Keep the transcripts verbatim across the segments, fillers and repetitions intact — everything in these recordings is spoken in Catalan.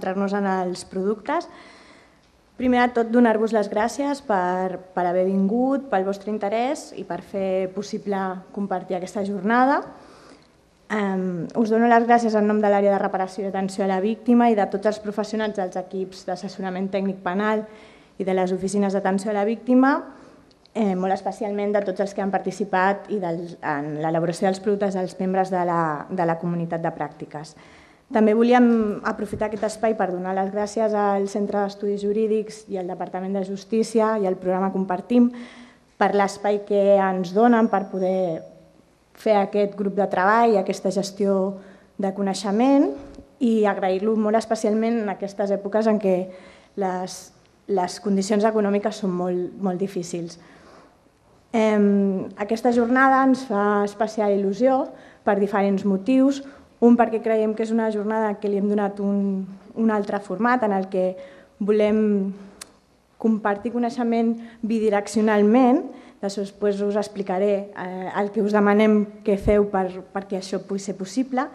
centrar-nos en els productes. Primer de tot, donar-vos les gràcies per, per haver vingut, pel vostre interès i per fer possible compartir aquesta jornada. Um, us dono les gràcies en nom de l'àrea de reparació i atenció a la víctima i de tots els professionals dels equips d'assessorament tècnic penal i de les oficines d'atenció a la víctima, eh, molt especialment de tots els que han participat i del, en l'elaboració dels productes dels membres de la, de la comunitat de pràctiques. També volíem aprofitar aquest espai per donar les gràcies al Centre d'Estudis Jurídics i al Departament de Justícia i al programa Compartim per l'espai que ens donen per poder fer aquest grup de treball, aquesta gestió de coneixement i agrair-lo molt especialment en aquestes èpoques en què les, les condicions econòmiques són molt, molt difícils. Eh, aquesta jornada ens fa especial il·lusió per diferents motius. Un, perquè creiem que és una jornada que li hem donat un, un altre format en el que volem compartir coneixement bidireccionalment. Després us explicaré el que us demanem que feu perquè això pugui ser possible.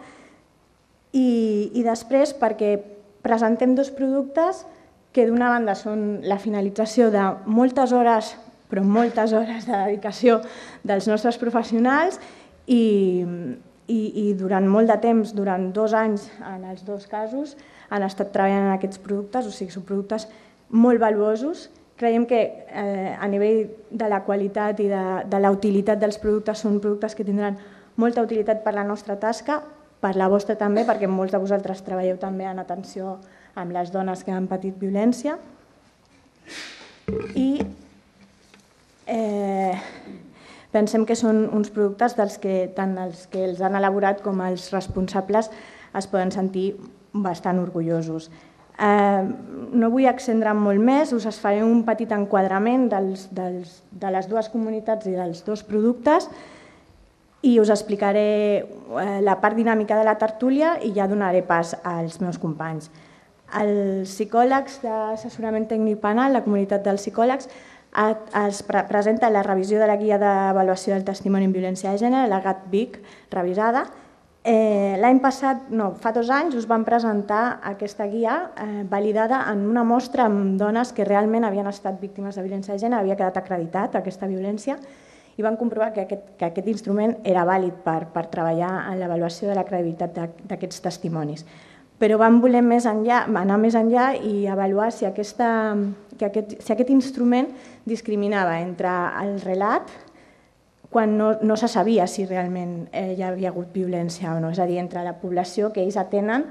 I després perquè presentem dos productes que d'una banda són la finalització de moltes hores, però moltes hores de dedicació dels nostres professionals i i durant molt de temps, durant dos anys en els dos casos, han estat treballant en aquests productes, o sigui, són productes molt valuosos. Creiem que a nivell de la qualitat i de la utilitat dels productes són productes que tindran molta utilitat per la nostra tasca, per la vostra també, perquè molts de vosaltres treballeu també en atenció amb les dones que han patit violència. I pensem que són uns productes dels que tant els que els han elaborat com els responsables es poden sentir bastant orgullosos. No vull extendre'm molt més, us faré un petit enquadrament de les dues comunitats i dels dos productes i us explicaré la part dinàmica de la tertúlia i ja donaré pas als meus companys. Els psicòlegs d'assessorament tècnic penal, la comunitat dels psicòlegs, es presenta la revisió de la guia d'avaluació del testimoni en violència de gènere, la GAT-VIC revisada. L'any passat, no, fa dos anys, us vam presentar aquesta guia validada en una mostra amb dones que realment havien estat víctimes de violència de gènere, havia quedat acreditat aquesta violència i vam comprovar que aquest instrument era vàlid per treballar en l'avaluació de la credibilitat d'aquests testimonis. Però vam voler anar més enllà i avaluar si aquest instrument discriminava entre el relat quan no se sabia si realment hi havia hagut violència o no, és a dir, entre la població que ells atenen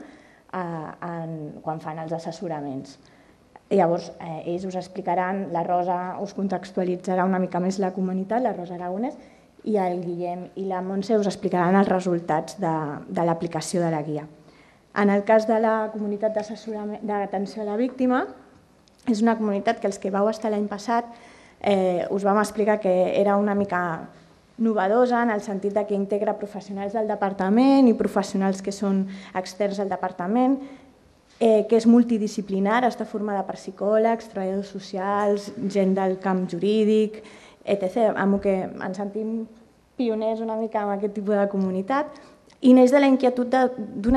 quan fan els assessoraments. Llavors, ells us explicaran, la Rosa us contextualitzarà una mica més la comunitat, la Rosa Aragonès, i el Guillem i la Montse us explicaran els resultats de l'aplicació de la guia. En el cas de la comunitat d'atenció a la víctima, és una comunitat que els que vau estar l'any passat us vam explicar que era una mica novedosa en el sentit que integra professionals del departament i professionals que són externs al departament, que és multidisciplinar, està formada per psicòlegs, treballadors socials, gent del camp jurídic, etcètera, amb què ens sentim pioners una mica en aquest tipus de comunitat, i neix d'una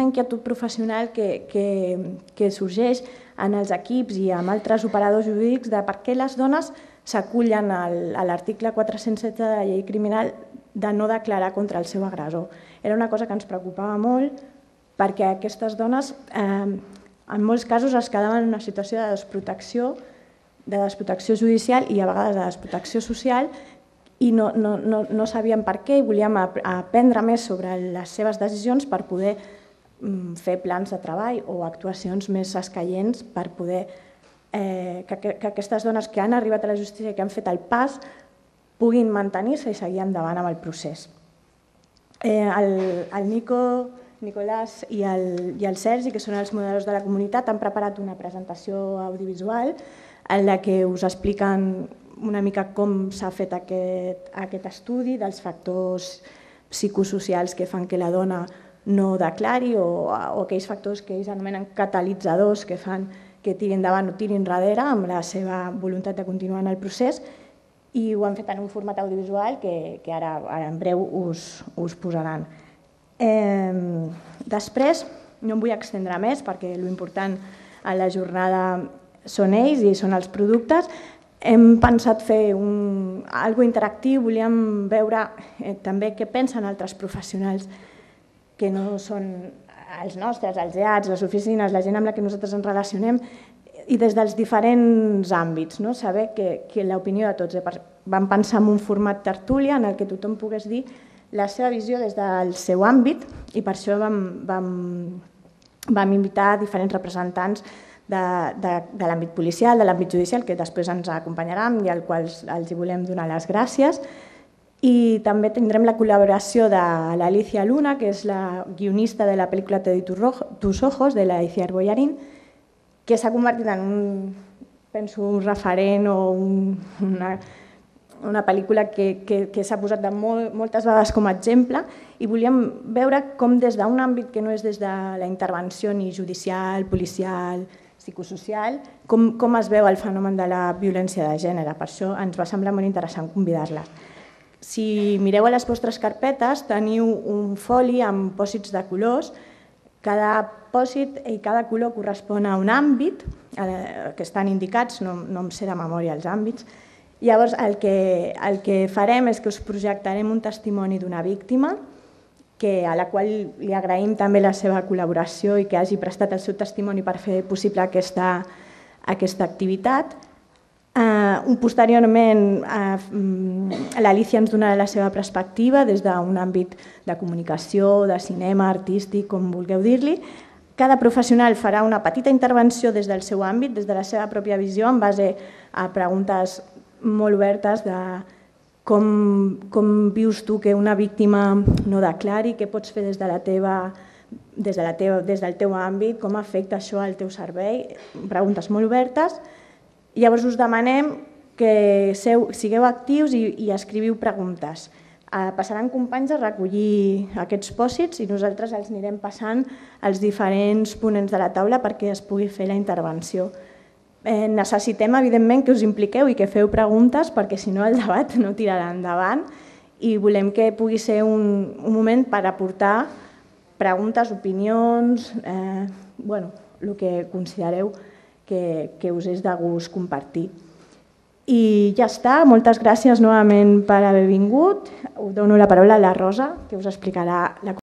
inquietud professional que sorgeix en els equips i amb altres operadors jurídics de per què les dones s'acullen a l'article quatre-cents setze de la llei criminal de no declarar contra el seu agressor. Era una cosa que ens preocupava molt perquè aquestes dones en molts casos es quedaven en una situació de desprotecció, de desprotecció judicial i a vegades de desprotecció social i no sabien per què i volíem aprendre més sobre les seves decisions per poder fer plans de treball o actuacions més escaients per poder que aquestes dones que han arribat a la justícia i que han fet el pas puguin mantenir-se i seguir endavant amb el procés. El Nico, Nicolàs i el Sergi, que són els moderadors de la comunitat, han preparat una presentació audiovisual en la que us expliquen una mica com s'ha fet aquest estudi dels factors psicosocials que fan que la dona no declari o aquells factors que ells anomenen catalitzadors que fan que tirin endavant o tirin darrere amb la seva voluntat de continuar en el procés i ho han fet en un format audiovisual que ara en breu us posaran. Després, no em vull extendre més perquè l'important a la jornada són ells i són els productes. Hem pensat fer un, algo interactiu, volíem veure eh, també què pensen altres professionals que no són els nostres, els E A Ts, les oficines, la gent amb la que nosaltres ens relacionem, i des dels diferents àmbits, no? Saber que, que l'opinió de tots. Vam pensar en un format tertúlia en el que tothom pogués dir la seva visió des del seu àmbit i per això vam, vam, vam invitar diferents representants de, de, de l'àmbit policial, de l'àmbit judicial, que després ens acompanyaran i al qual els volem donar les gràcies. I també tindrem la col·laboració de l'Alicia Luna, que és la guionista de la pel·lícula Te doy tus ojos, de la Iciar Boyarín, que s'ha convertit en un, penso, un referent o un, una, una pel·lícula que, que, que s'ha posat de molt, moltes vegades com a exemple i volíem veure com des d'un àmbit que no és des de la intervenció ni judicial, policial, psicosocial, com, com es veu el fenomen de la violència de gènere. Per això ens va semblar molt interessant convidar-les. Si mireu a les vostres carpetes, teniu un foli amb pòsits de colors. Cada pòsit i cada color correspon a un àmbit que estan indicats, no, no em sé de memòria els àmbits. Llavors, el que, el que farem és que us projectarem un testimoni d'una víctima que, a la qual li agraïm també la seva col·laboració i que hagi prestat el seu testimoni per fer possible aquesta, aquesta activitat. Uh, posteriorment, uh, l'Alicia ens donarà la seva perspectiva des d'un àmbit de comunicació, de cinema, artístic, com vulgueu dir-li. Cada professional farà una petita intervenció des del seu àmbit, des de la seva pròpia visió, en base a preguntes molt obertes de com, com vius tu que una víctima no declari, què pots fer des, de la teva, des, de la teva, des del teu àmbit, com afecta això al teu servei, preguntes molt obertes. Llavors us demanem que seu, sigueu actius i, i escriviu preguntes. Eh, passaran companys a recollir aquests pòsits i nosaltres els anirem passant als diferents ponents de la taula perquè es pugui fer la intervenció. Eh, necessitem, evidentment, que us impliqueu i que feu preguntes perquè si no el debat no tirarà endavant i volem que pugui ser un, un moment per aportar preguntes, opinions, eh, bueno, el que considereu que, que us és de gust compartir. I ja està, moltes gràcies novament per haver vingut. Us dono la paraula a la Rosa, que us explicarà la